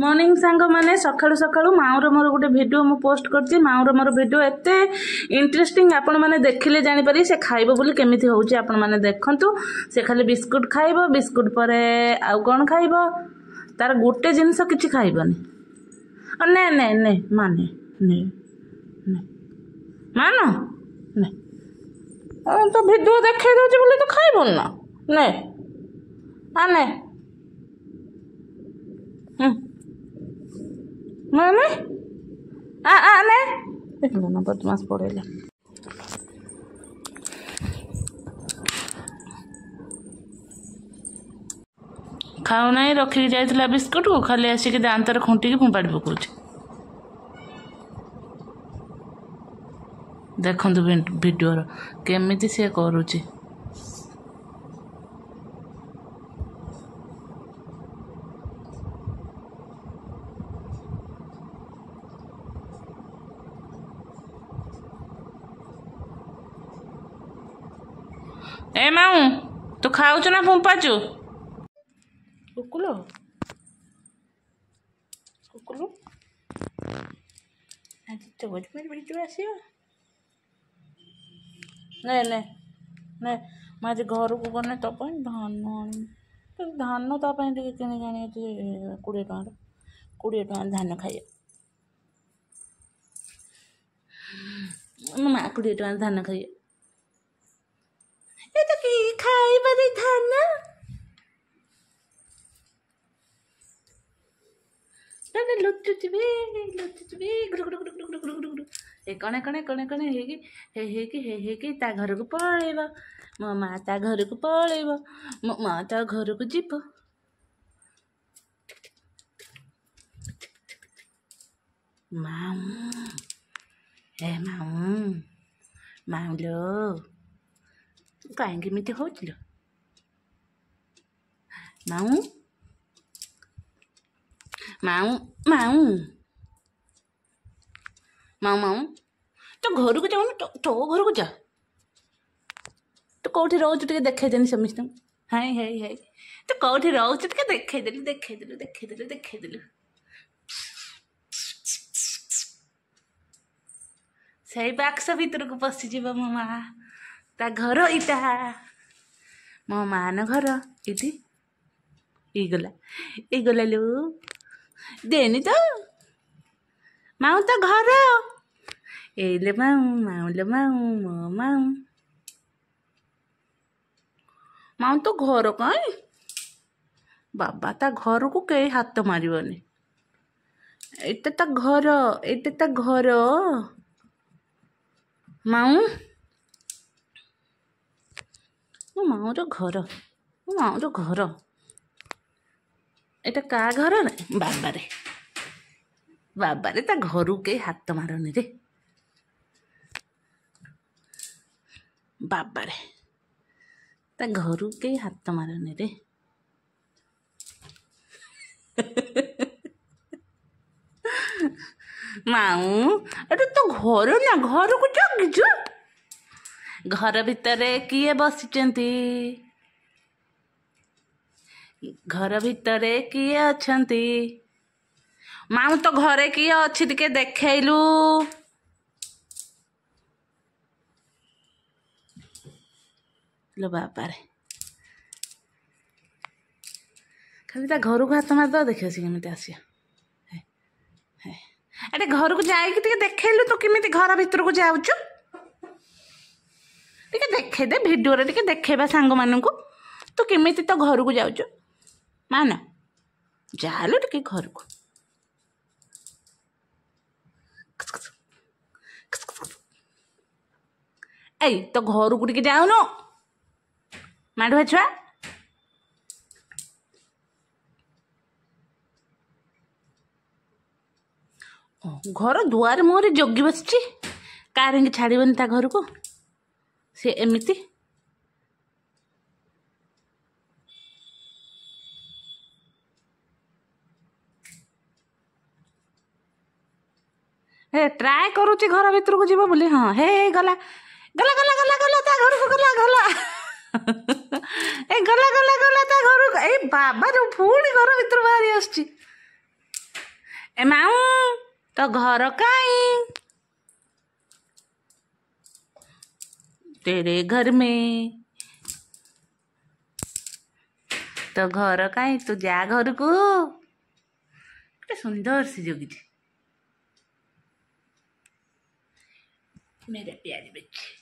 Morning ସାଙ୍ଗମାନେ, ସକାଳୁ ସକାଳୁ ମାଉଁର ମୋର ଗୋଟେ ଭିଡ଼ିଓ ମୁଁ ପୋଷ୍ଟ କରିଛି। ମାଉଁର ମୋର ଭିଡ଼ିଓ ଏତେ ଇଣ୍ଟରେଷ୍ଟିଂ, ଆପଣମାନେ ଦେଖିଲେ ଜାଣିପାରିବେ ସେ ଖାଇବ ବୋଲି କେମିତି ହେଉଛି। ଆପଣମାନେ ଦେଖନ୍ତୁ, ସେ ଖାଲି ବିସ୍କୁଟ ଖାଇବ, ବିସ୍କୁଟ ପରେ ଆଉ କ'ଣ ଖାଇବ? ତାର ଗୋଟେ ଜିନିଷ କିଛି ଖାଇବନି। ନେ ନେ ନେ ମା, ନେ ନେ ନେ ମା, ନା ନେ। ତ ଭିଡ଼ିଓ ଦେଖେଇ ଦେଉଛି ବୋଲି ତ ଖାଇବୁନି ନା? ନେ ଆ ନେ। ମାନେ ଆ ଆ ନେ, ଦେଖିଲୁ ନା, ବଦମାସ ପଳେଇଲା। ଖାଉନାହିଁ, ରଖିକି ଯାଇଥିଲା ବିସ୍କୁଟକୁ ଖାଲି ଆସିକି ଦାନ୍ତରେ ଖୁଣ୍ଟିକି ଫୋପାଡ଼ି ପକାଉଛି। ଦେଖନ୍ତୁ ଭିଡ଼ିଓର କେମିତି ସିଏ କରୁଛି। ଏ ମାଉଁ, ତୁ ଖାଉଛୁ ନା ଫୁମ୍ପାଚୁ? କୁକୁଲ କୁକୁଲୁ, ଆଜି ତ ଭିଡ଼ିଓ ଆସିବ। ନେ ନେ ନେ। ମୁଁ ଆଜି ଘରକୁ ଗଲେ ତୋ ପାଇଁ ଧାନ ଆଣିବି। ଧାନ ତା ପାଇଁ ଟିକେ କିଣିକି ଆଣିବି 20 ଟଙ୍କାର, 20 ଟଙ୍କା ଧାନ ଖାଇବ ମୋ ମା। 20 ଟଙ୍କା ଧାନ ଖାଇବ। ଏ ତ କି ଖାଇବାରେ ଧାନ ଲୁଚୁଛି ବି, ଲୁଚୁଛି ବି, ଗୁଡୁ ଗୁଡୁ ଗୁଡୁ ଗୁଡୁ ଗୁଡୁ ଗୁଡୁ ଗୁଡୁ। ଏ କଣେ କଣେ କଣେ କଣେ ହେଇକି ହେଇ ହେଇକି ହେଇ ହେଇକି ତା ଘରକୁ ପଳେଇବ। ମୋ ମା ତା ଘରକୁ ପଳେଇବ, ମୋ ମା ତା ଘରକୁ ଯିବ। ମାଉଁ, ଏ ମାଉଁ, ମାଉଁ ଲୋ, କାହିଁକି ଏମିତି ହଉଥିଲ? ମାଉଁ ମାଉଁ ମାଉଁ ମାଉଁ ମାଉଁ, ତୋ ଘରକୁ ଯାଉନୁ, ତୋ ଘରକୁ ଯା। ତୁ କେଉଁଠି ରହୁଛୁ ଟିକେ ଦେଖେଇଦେନି ସମସ୍ତଙ୍କୁ। ହାଇ ହାଇ ହାଇ, ତୁ କେଉଁଠି ରହୁଛୁ ଟିକେ ଦେଖେଇଦେଲୁ, ଦେଖେଇଦେଲୁ, ଦେଖେଇଦେଲୁ, ଦେଖେଇଦେଲୁ। ସେଇ ବାକ୍ସ ଭିତରକୁ ପଶିଯିବ ମୋ ମା। ତା ଘର ଏଇଟା, ମୋ ମାନ ଘର ଏଇଠି। ଏଇଗଲା, ଏଇଗଲା ଲୋ, ଦେନି ତ ମାଉଁ ତ ଘର। ଏଇଲେ ମାଉଁ, ମାଉଁଲେ ମାଉଁ, ମୋ ମାଉଁ, ମାଉଁ ତ ଘର କାଇଁ ବାବା? ତା ଘରକୁ କେହି ହାତ ମାରିବନି। ଏଇଟା ତା ଘର, ଏଇଟା ତା ଘର। ମାଉଁ, ମୋ ମାଉଁର ଘର, ମୋ ମାଉଁର ଘର ଏଇଟା। କାହା ଘର ରେ? ବାବାରେ ବାବାରେ, ତା ଘରକୁ କେହି ହାତ ମାରନି ରେ ବାବାରେ, ତା ଘରକୁ କେହି ହାତ ମାରନି ରେ। ମାଉଁ, ଏଟା ତ ଘର ନା? ଘରକୁ ଜଗିଛୁ? ଘର ଭିତରେ କିଏ ବସିଛନ୍ତି? ଘର ଭିତରେ କିଏ ଅଛନ୍ତି? ମାଉଁ, ତ ଘରେ କିଏ ଅଛି ଟିକେ ଦେଖେଇଲୁ। ଲୋ ବାବାରେ, ଖାଲି ତା ଘରକୁ ହାତ ମାରିଦେବା, ଦେଖିବ ସେ କେମିତି ଆସିବ। ଆରେ ଘରକୁ ଯାଇକି ଟିକେ ଦେଖେଇଲୁ, ତୁ କେମିତି ଘର ଭିତରକୁ ଯାଉଛୁ ଟିକେ ଦେଖେଇଦେ ଭିଡ଼ିଓରେ, ଟିକେ ଦେଖେଇବା ସାଙ୍ଗମାନଙ୍କୁ ତୁ କେମିତି ତୋ ଘରକୁ ଯାଉଛୁ। ମାନ ଯାହାହେଲେ ଟିକେ ଘରକୁ। ଏଇ ତୋ ଘରକୁ ଟିକେ ଯାଉନୁ ମାଣ୍ଡୁଆ ଛୁଆ? ଘର ଦୁଆର ମୁହଁରେ ଜଗି ବସିଛି, କାହିଁକି ଛାଡ଼ିବନି ତା ଘରକୁ ସେ ଏମିତି? ହେ ଟ୍ରାଏ କରୁଛି ଘର ଭିତରକୁ ଯିବ ବୋଲି। ହଁ, ହେ ଗଲା ଗଲା ଗଲା ଗଲା ଗଲା, ତା ଘରକୁ ଗଲା ଗଲା, ଏ ଗଲା ଗଲା ଗଲା ତା ଘରକୁ। ଏଇ ବାବା, ପୁଣି ଘର ଭିତରୁ ବାହାରି ଆସୁଛି। ଏ ମାଉ, ତ ଘର କାଇଁ? ତେରେ ଘର ମେ ତ ଘର କାଇଁ? ତୁ ଯା ଘରକୁ। କେତେ ସୁନ୍ଦର ସେ ଜଗିଛି। मेरे प्यारे बच्चे।